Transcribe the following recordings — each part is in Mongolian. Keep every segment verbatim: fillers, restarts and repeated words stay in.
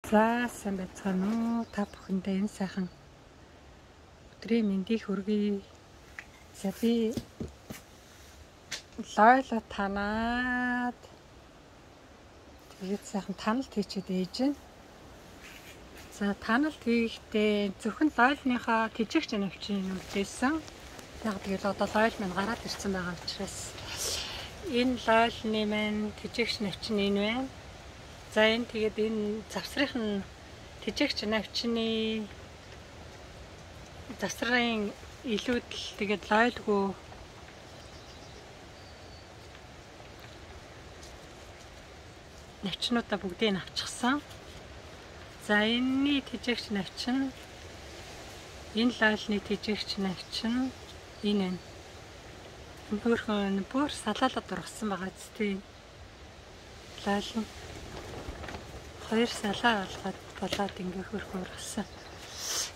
За сайн байцгаана уу та бүхэндээ энэ сайхан өдрийн мэндийг хүргэе. За би лойло танаад тэгээд сайхан таналт хийчихэд ээж байна. За таналт хийхдээ зөвхөн лойлныхаа тэжигч навчийг үлдээсэн. Яг тэгэл одоо лойл минь гараад ирсэн байгаа учраас энэ лойлны маань тэжигч навч нь энэ байна. За энэ тэгээд энэ завсрын тэжигч навчны завсрын илүүдэл тэгээд лойлгүй навчнуудаа бүгдийг нь авчихсан. За энэний тэжигч навч нь энэ лойлны тэжигч навч нь энэ байна. Бүрхэн бүр салаалаад ургасан байгаа зү. Лойл нь хоёр салаа алгаад болоод ингээ хөрхөн ургасан.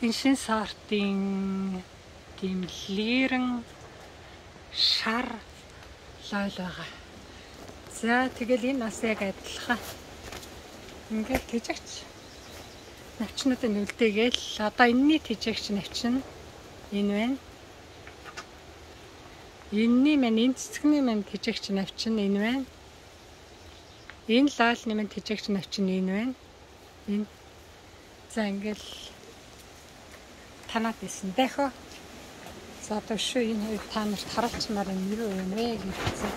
Энэ шин сортын тийм лирэн шар лойл байгаа. За тэгэл энэ бас яг адилхан. Ингээл тэжигч навчнуудын үлдээгээл одоо энэний тэжигч навч нь энэ байна. Энэний маань энэ цэцгний маань тэжигч навч нь энэ байна. Энэ лойлны маань тэжигч навч нь энэ байна. Энэ за ингээл танаад исэн дахио. За одоо шүү энэ хоёр та нарт харуулчмаар юм юу юм бэ гэсэн.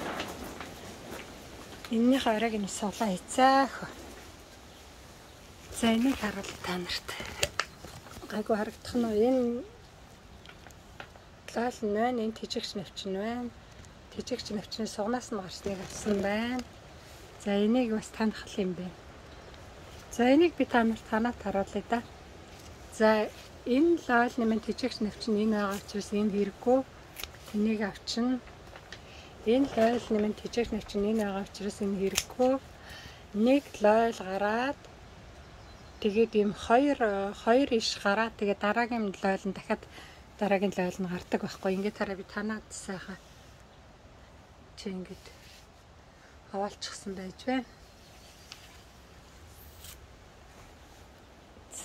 Энэний хоёрыг нь суулаа хийцээх. За энийг харуул та нарт. Гайгүй харагдах нь энэ лойл нь байна, энэ тэжигч навч нь байна. Тэжигч навчны сугнаас нь гарсныг авсан байна. За энийг бас танах юм бэ. За энийг би та нарт танаад харуулъя да. За энэ лойлны маань тэжигч навч нь энэ байгаа учраас энэ хэрэггүй. Энийг авчна. Энэ лойлны маань тэжигч навч нь энэ байгаа учраас энэ хэрэггүй. Нэг лойл гараад тэгээд ийм хоёр хоёр иш гараад тэгээд дараагийн лойл нь дахиад дараагийн лойл нь гардаг байхгүй. Ингээд тараа би танаад сайхан чи ингээд хаваалчихсан байж байна.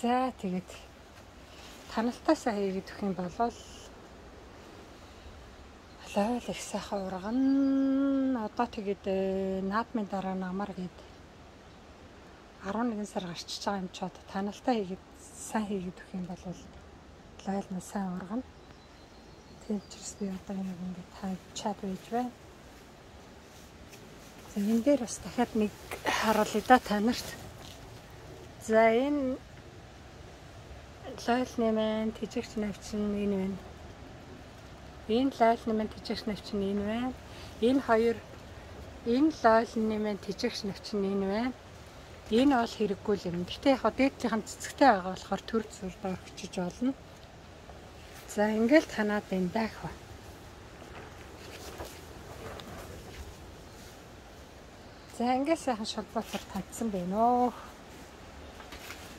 За тэгээд таналтаасаа хийгээд өгөх юм бол лойл их сайхан ургана. Одоо тэгээд наадмын дараа намар гээд арван нэгэн сар гарчиж байгаа юм чи одоо таналтаа хийгээд сайн хийгээд өгөх юм бол лойл нь сайн ургана. Тийм учраас би одоо нэг ингээд тавьчаад байж байна. За энэ дээр бас дахиад нэг харуулъя да та нарт. За энэ лойлны маань тэжигч навч нь энэ байна. Энэ лойлны маань тэжигч навч нь энэ байна. Энэ хоёр энэ лойлны маань тэжигч навч нь энэ байна. Энэ бол хэрэггүй юм. Гэтэ яг дээдлийнхэн цэцэгтэй байгаа болохоор төр зүрд орчиж болно. За ингээл танаад энэ даах. За ингээд сайхан шалбаатар тандсан байна оо.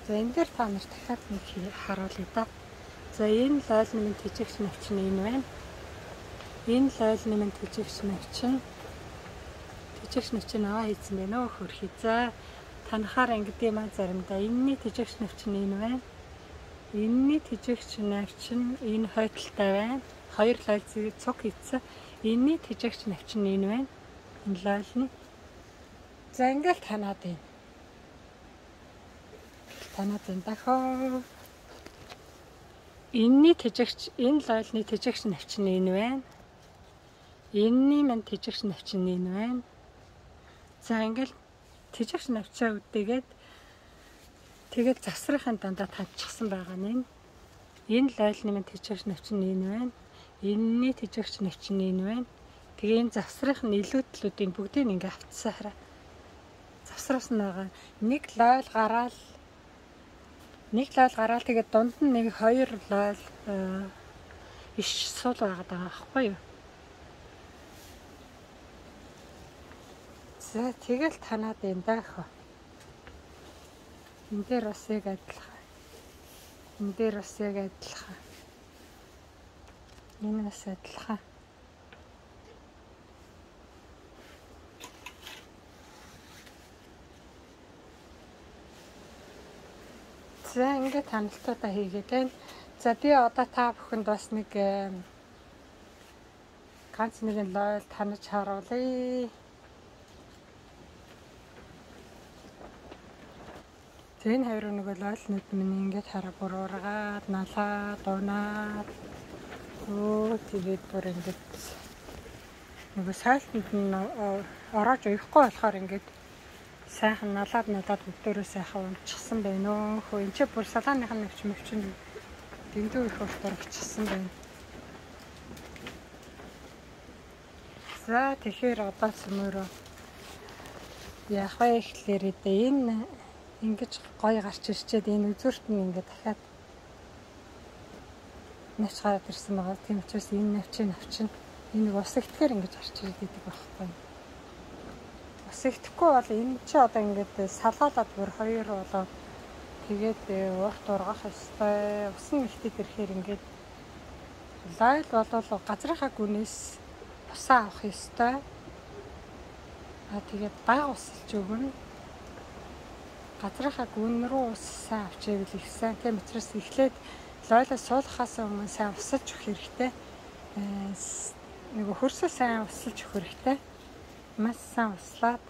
За энэ дээр та нарт дахиад нэг харуулъя да. За энэ лойлны минь тэжигч навч нь энэ байна. Энэ лойлны минь тэжигч навч нь тэжигч навч нь аваа хийсэн байна оо хөрхий. За танахаар ингэдэм маа заримдаа энэний тэжигч навч нь энэ байна. Энэний тэжигч навч нь энэ хойдолтой байна. Хоёр лойл цуг хийсэн. Энэний тэжигч навч нь энэ байна. Энэ лойлны. За ингээл танаад байна. Танаад байна дахиад. Энэний тэжигч энэ лойлны тэжигч навч нь энэ байна. Энэний маань тэжигч навч нь энэ байна. За ингээл тэжигч навчаа үдээгээд тэгээд завсрын дандаа тавьчихсан байгаа нь. Энэ лойлны маань тэжигч навч нь энэ байна. Энэний тэжигч навч нь энэ байна. Тэгээ энэ завсрын илүүдлүүдийн бүгдийг ингээ авцсан хараа. Завсраас нь байгаа. Нэг лойл гараал нэг лойл гараал тэгээд дунд нь нэг хоёр лойл иш сул байгаа даа байхгүй юу? За тэгэл танаад энэ даах. Энд дээр бас яг адилхан. Энд дээр бас яг адилхан. Энэ бас адилхан. За ингээд ханалтуудаа хийгээд байна. За би одоо та бүхэнд бас нэг ганц нэгэн лойл танаж харуулъя. Тэн хоёр нэг лойлнууд минь ингээд хараа бүр ургаад, налаад, унаад. Өө тэгээд бүр ингээд нөгөө сайлтанд нь ороож уйхгүй болохоор ингээд сайхан налаад надад бүгдөө сайхан унчихсан байна өө. Хөө энэ ч бүр салааных нь навч мөвчин дэндүү их уртарчихсан байна. За тэгэхээр одоо цөмөрөө яах вэ гэхлээр энэ ингэж гоё гарч ирчээд энэ үзүүрт нь ингээд дахиад навч гараад ирсэн байгаа. Тийм учраас энэ навчийн навчин энэ ус ихтгэр ингэж гарч ирээд байдаг байхгүй. Ус ихтэхгүй бол энэ чи одоо ингээд салгаалаад бүр хоёр болоо тэгээд урт ургах ёстой. Ус нь ихтэд ирэхээр ингээд лайл болол газрынхаа гүнээс усаа авах ёстой. А тэгээд бага усалж өгнө. Газрынхаа гүн рүү ус сайн авчээвэл их сайн. Тийм учраас эхлээд лойлоо суулгахаас өмнө сайн усалж өгөх хэрэгтэй. Нөгөө хөрсөө сайн усалж өгөх хэрэгтэй. Маш сайн услаад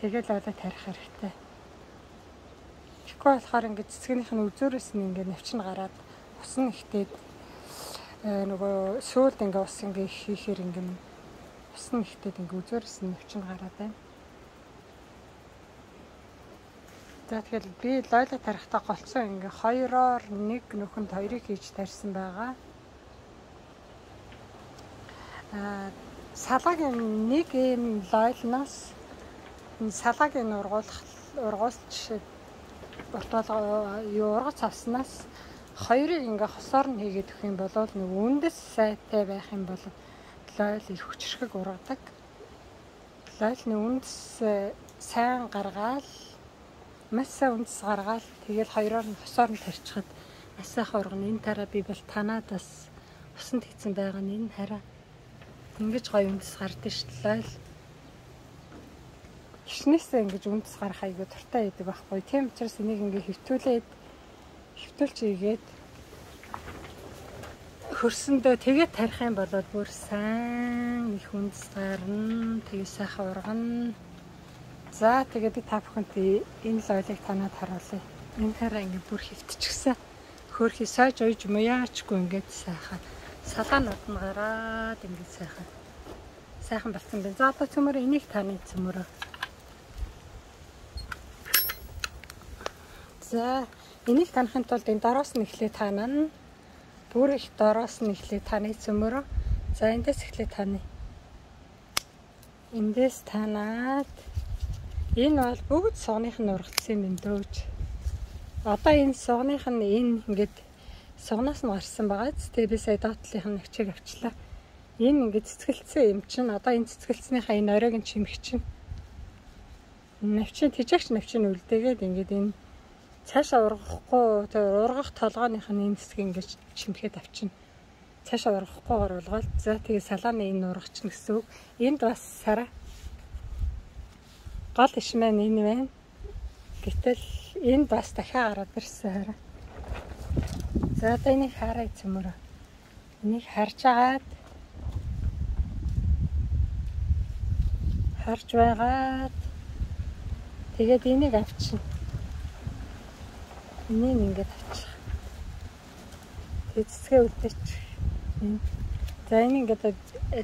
тэгээд лойлоо тарих хэрэгтэй. Тэгэхгүй болохоор ингээд цэцгийнх нь үзүүрээс нь ингээд навчин гараад ус нь ихтээд нөгөө сүүлд ингээд ус ингээд хийхээр ингээд ус нь ихтээд ингээд үзүүрээс нь навчин гараад байна. За тэгэхээр би лойлоо тарихтаа голцсон ингээ хоёроор нэг нөхөнд хоёрыг хийж тарьсан байгаа. Аа салаагийн нэг юм лойлноос салаагийн ургуулах ургуулч уртвал юу ургац авснаас хоёрыг ингээ хосоор нь хийгээд өгөх юм бол нэг үндэс сайтай байх юм бол лойл их хүчрхэг ургадаг. Лойлны үндэс сайн гаргаад Масса үндэс гаргаад тэгэл хоёроор нь хосоор нь тарьчихад маш сайхан ургана. Энэ тараа би бол танаад бас усанд хийсэн байгаа нь энэ хараа. Ингэж гоё үндэс гардаг шүү дээ. Гişнээсээ ингэж үндэс гарах айгүй дуртай байдаг байхгүй. Тийм учраас энийг ингэ хөвтүүлээд хөвтүүлж ийгээд хөрсөндөө тэгээд тарих юм бол бүр сайн их үндэс гарна. Тэгээ сайхан ургана. За тэгээд би та бүхэнд энэ лойлыг танаад харуулъя. Энэ хараа ингээд бүр хөвтчихсэн. Хөөрхий сойж ойж муяачгүй ингээд сайхан салаанууд нь гараад ингээд сайхан сайхан болсон байна. За одоо цөмөрөө энийг таны цөмөрөө. За энийг танахын тулд энэ дороос нь эхлээ танаа. Бүр их дороос нь эхлээ таны цөмөрөө. За эндээс эхлээ таны. Эндээс танаад энэ бол бүгд согных нь ургацсан юм дөөж. Одоо энэ согных нь энэ ингээд согноос нь гарсан байгаа. Тэгээ би сая доотлынх нь навчийг авчлаа. Энэ ингээд цэцгэлцсэн юм чинь одоо энэ цэцгэлцснийхаа энэ оройг нь чимэх чинь. Навчин тижаагч навчин үлдээгээд ингээд энэ цаашаа ургахгүй тэгээ ургах толгойных нь энэ цэцгийг ингээд чимхэд авчина. Цаашаа ургахгүйгээр болгоод за тэгээ салааны энэ ургачихна гэсэн үг. Энд бас сараа гол иш маань энэ байна. Гэтэл энэ бас дахиад гараад ирсэн хараа. За одоо энийг хараа цөмөрөө. Энийг харж агаад харж байгаад тэгээд энийг авчина. Энийг ингээд авчих. Тэгээд цэцгээ үлдээч. За энийг ингээд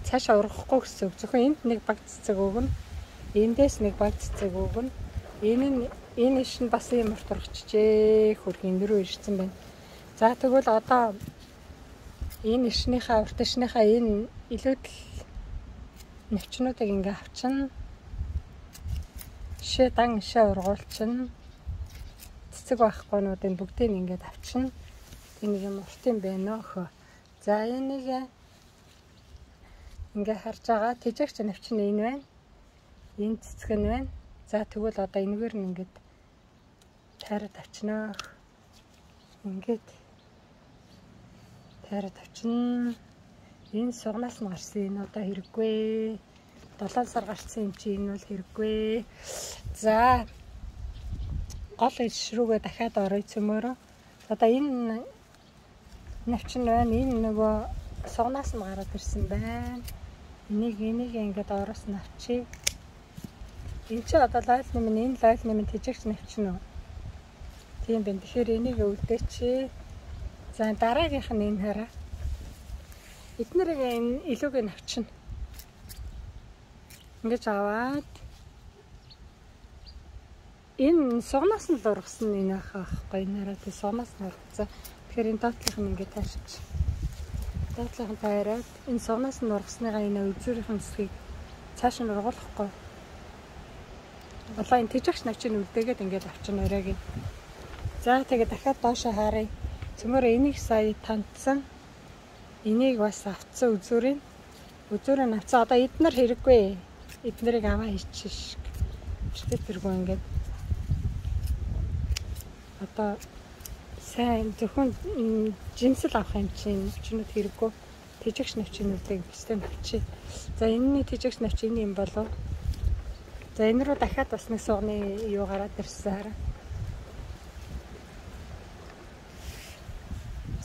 цаашаа ургахгүй гэсэн үг. Зөвхөн энд нэг баг цэцэг өгнө. Эндээс нэг баг цэцэг өгнө. Энэ нь энэ иш нь бас юм урт урагчжээ. Хөргийн нэрөө ирсэн байна. За тэгвэл одоо энэ ишнийхаа урт ишнийхаа энэ илүүдл навчнуудыг ингээ авчна. Жишээ дан ишээ ургуулчихна. Цэцэг байхгүй нуудыг бүгдийг ингээд авчна. Тэг нэг юм урт юм байна өхөө. За энийг ингээ харж байгаа тижаагч навчин энэ байна. Энэ цэцэг нь байна. За тэгвэл одоо энэгээр нь ингээд тайраад авчнаа. Ингээд тайраад авчна. Энэ сугнаас нь гарсан энэ одоо хэрэггүй. долоон сар гарсан юм чи энэ бол хэрэггүй. За гол иш рүүгээ дахиад орой цөмөрөө. Одоо энэ навчин байна. Энэ нөгөө сугнаас нь гараад ирсэн байна. Энийг энийг ингээд ороос нь авчи. Энэ чи одоо лайл нэмэн энэ лайл нэмэн тэжигч навчин уу? Тийм байна. Тэгэхээр энийг өвлдөөч. За дараагийнх нь энэ хараа. Эднэрийг энэ илүүгээ навчна. Ингэж аваад энэ сугнаас нь л ургасан энэ аахгүй нэрээ тий сугнаас нь ургацсан. Тэгэхээр энэ доотлих нь ингээд таарч. Доотлих нь таараад энэ сугнаас нь ургасныгаа энэ үзүүрийн хэсгийг цааш нь ургуулахгүй. Одоо энэ тэжигч навчийг үлдээгээд ингээд авчин оройг. За тэгээд дахиад доошоо харъя. Цөмөр энийг сая тандсан. Энийг бас авцсан үзүүрийн. Үзүүрийн авцсан. Одоо эднэр хэрэггүй. Эднэрийг аваа хийчих. Биштэй тэргүй ингээд. Одоо сайн зөвхөн жинсэл авах юм чинь чинүүд хэрэггүй. Тэжигч навчинуудыг биштэй навчи. За энэний тэжигч навч энэ юм болов. За энэ рүү дахиад бас нэг сугны юу гараад ирсэн хараа.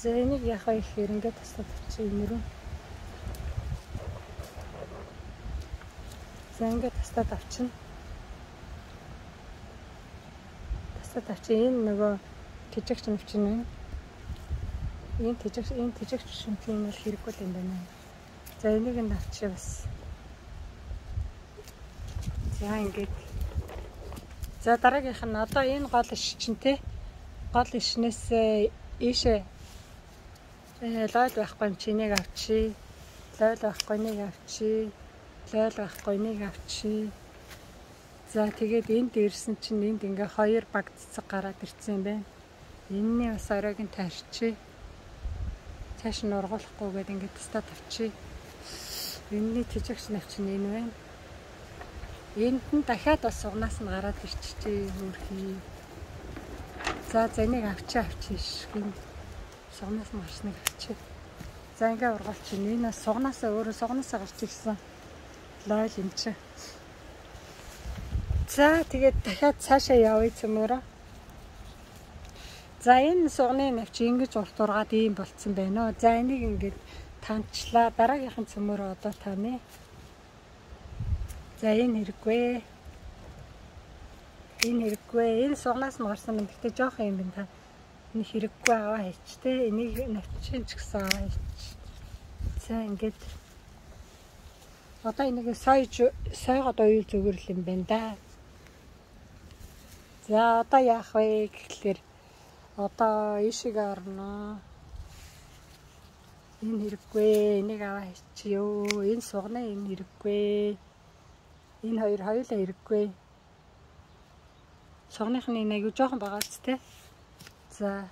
За энийг яхаа их ингээд тастад авчи энэ рүү. За ингээд тастад авчина. Тастад авчи энэ нөгөө тэжигч навчин байна. Энэ тэжигч энэ тэжигч шимтийн бол хэрэггүй юм байна. За энийг нь авчи бас. За ингээд. За дараагийнх нь одоо энэ гол иш чинь те. Гол ишнээс ийшээ лойл байхгүй юм чи нэг авчи. Лойл байхгүй нэг авчи. Лойл байхгүй нэг авчи. За тэгээд энд ирсэн чинь энд ингээ хоёр баг цэцэг гараад ирсэн юм байна. Энэний бас оройг нь таарчи. Цааш нь ургуулахгүйгээд ингээ тастад авчи. Энэний тэжигч навчин энэ байна. Энд нь дахиад бас сугнаас нь гараад ирчихжээ хөрхий. За за энийг авчи авчи шин. Сугнаас нь гарсныг авчи. За ингээ ургуулчих. Энэ сугнаасаа өөрөө сугнаасаа гарч ирсэн. Лойл юм чи. За тэгээд дахиад цаашаа явъя цөмөрөө. За энэ сугны навч ингэж урт ургаад ийм болцсон байна. За энийг ингээд танчлаа. Дараагийнхан цөмөрөө одоо таны. За энэ хэрэггүй. Энэ хэрэггүй. Энэ сугнаас нь гарсан юм. Гэтэ жоох юм байна та. Энэ хэрэггүй аваа хийч те. Энийг навчин ч гэсэн аваа хийч. За ингээд. Одоо энийг сойж сойгоод уйл зүгэрл юм байна да. За одоо яах вэ гэхлээр одоо ишиг орно. Энэ хэрэггүй. Энийг аваа хийчихё. Энэ сугна энэ хэрэггүй. Энэ хоёр хоёулаа хэрэггүй. Сугныхны нэг аюу жоохон байгаа ч те. За.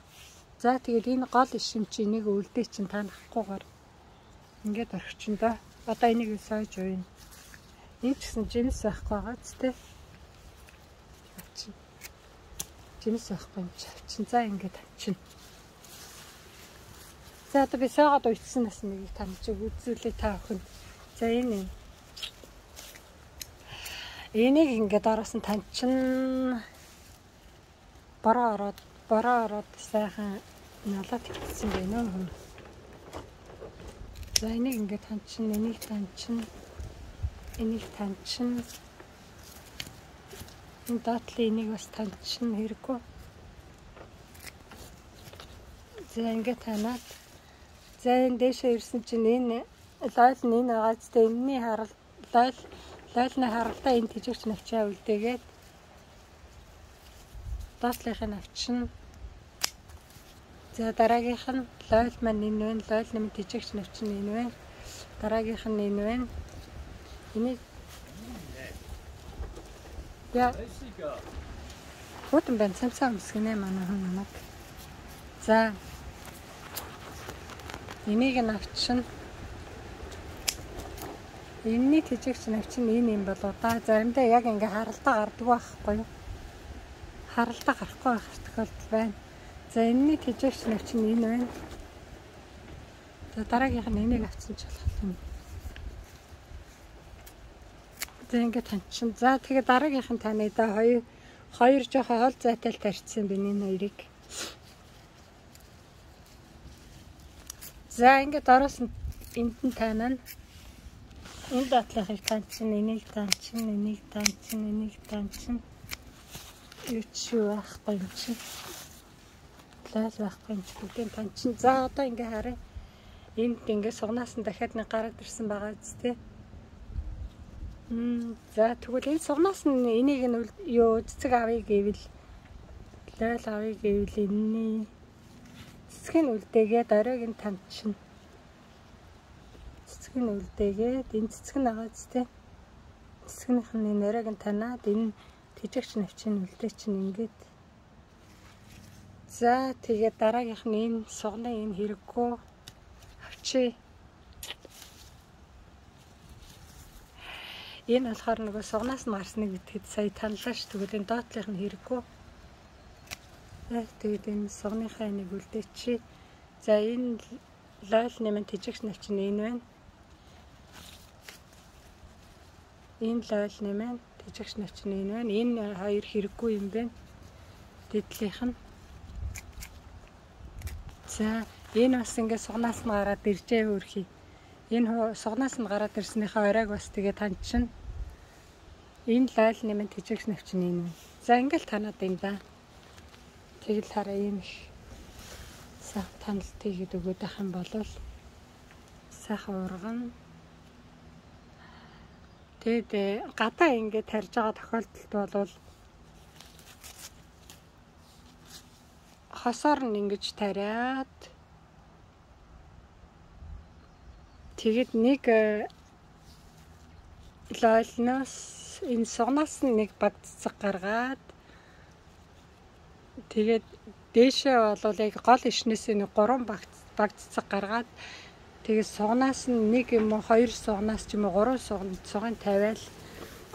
За тэгээд энэ гол ишим чи энийг үлдээ чин танахгүйгээр ингээд орчихно да. Одоо энийг сойж уйна. Энэ ч гэсэн жинс байхгүй байгаа ч те. Жинс байхгүй юм чи авчин. За ингээд авчин. За одоо би сойгоод уйдсан нас нэг таньж үзүүлээ та охин. За энэ юм. Энийг ингээд араас нь таньчин. Бороо ороод бороо ороод сайхан налаад ирсэн байна уу. За энийг ингээд таньчин, энийг таньчин, энийг таньчин. Энэ доотлын энийг бас таньчин хэрэггүй. За ингээд танаад. За энэ дээшээ ирсэн чинь энэ лойл нь энэ байгаа ч тийм энэний харал лойл лойлны харалтаа энэ тэжигч навчаа үлдээгээд доотлынхын навчин. За дараагийнх нь лойл маань энэ байна. Лойл нэмэн тэжигч навчин энэ байна. Дараагийнх нь энэ байна. Энийг яа. Хотон бэн самсаа өмсгэнэ манай хүн намайг. За. Энийг нь авчин. Энэний тэжигч навчин энэ юм болоо да. Заримдаа яг ингээ харалтаа гардаг байхгүй юу? Харалтаа гарахгүй байх тохиолдол байна. За энэний тэжигч навчин энэ байна. За дараагийнх нь энийг авсан ч болох юм. За ингээ таньчин. За тэгээ дараагийнх нь таны да хоёр Хоёр жоохон хол зайтай л тарьчихсан байна энэ хоёрыг. За ингээд ороос нь энд нь таанаа. Энд дотлохыг таньчин, энийг таньчин, энийг таньчин, энийг таньчин. Юу ч байхгүй юм чинь. Лал байхгүй юм чинь бүгдийг таньчин. За одоо ингээ харъя. Энд ингээ сугнаас нь дахиад нэг гараад ирсэн байгаа зү тээ. Мм за тэгвэл энэ сугнаас нь энийг нь юу цэцэг авъя гэвэл лал авъя гэвэл энэний цэцгийн үлдээгээд оройг нь таньчин. Цэцгийн үлдээгээд энэ цэцэг нь байгаа зү тээ. Цэцгнийх нь энэ оройг нь танаад энэ тэжигч навчин үлдээ чинь ингээд. За тэгээд дараагийнх нь энэ сугны энэ хэрэггүй авчи. Энэ болохоор нөгөө сугнаас нь гарсныг битгэд сая танилаа ш. Тэгвэл энэ доотлих нь хэрэггүй. Тэгээд энэ сугныхаа энийг үлдээчи. За энэ лол нэмэн тэжигч навчин энэ байна. Энэ лол нэмэн тэжигч навчин энэ байна. Энэ хоёр хэрэггүй юм байна. Дэдлийнх нь. За энэ бас ингээд сугнаас нь гараад иржээ хөрхий. Энэ сугнаас нь гараад ирснийхаа оройг бас тэгээ таньчин. Энэ лол нэмэн тэжигч навчин энэ байна. За ингээд танаад юм да. Тэгэл хараа ийм их сайхан таналт хийгээд өгöd ах юм бол сайхан урган. Тэгэд гадаа ингээд тарьж байгаа тохиолдолд бол хосоор нь ингэж тариад тэгэд нэг лолноос энэ сугнаас нь нэг баг цэцэг гаргаад тэгээд дээшээ бол яг гол ишнээс нэг гурван баг баг цэцэг гаргаад тэгээд сугнаас нь нэг юм уу хоёр сугнаас ч юм уу гурван сугын тавиал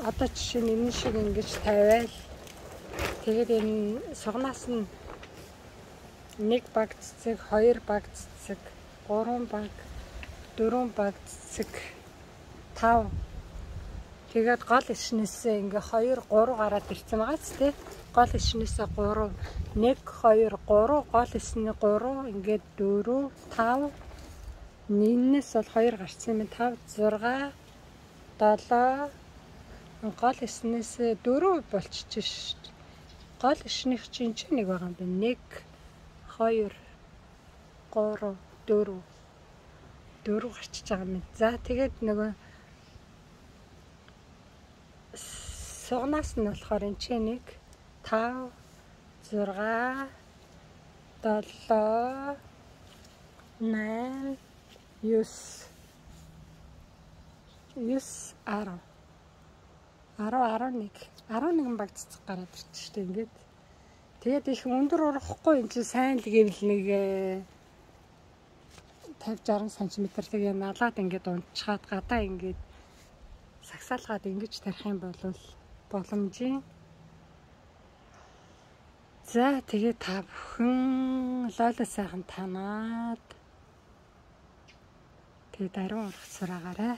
одоо жишээ нь энэ шиг ингэж тавиал тэгээд энэ сугнаас нь нэг баг цэцэг, хоёр баг цэцэг, гурван баг, дөрвөн баг цэцэг, тав. Тэгээд гол ишнээсээ ингээ хоёр, гурав гараад ирсэн байгаа ч тийм. Гол ишнээсээ гурав, нэг, хоёр, гурав, гол ишний гурав, ингээд дөрөв, тав. Нинээс бол хоёр гарсан юм. тав, зурга, долоо. Гол ишнээсээ дөрөв болчихж шít. Гол ишнийх чинь ч нэг байгаа юм байна. нэг хоёр, гурав, дөрөв. дөрөв гарчиж байгаа юм. За тэгээд нөгөө сугнаас нь болохоор энэ чинь нэг, тав, зурга, долоо, найман, юс. юс, арав. арав, арав нэг. арав нэгэн баг цэцэг гараад ирчих шүү дээ ингээд. Тэгээд их өндөр урахгүй энэ чинь сайн л гэвэл нэг тавьж арван сантиметр тэгээ налаад ингээд унтчихад гадаа ингээд сагсаалгаад ингэж тарих юм бол боломжийн. За тэгээ та бүхэн лоло сайхан танаад тэгээ даруй урах сураагаарай.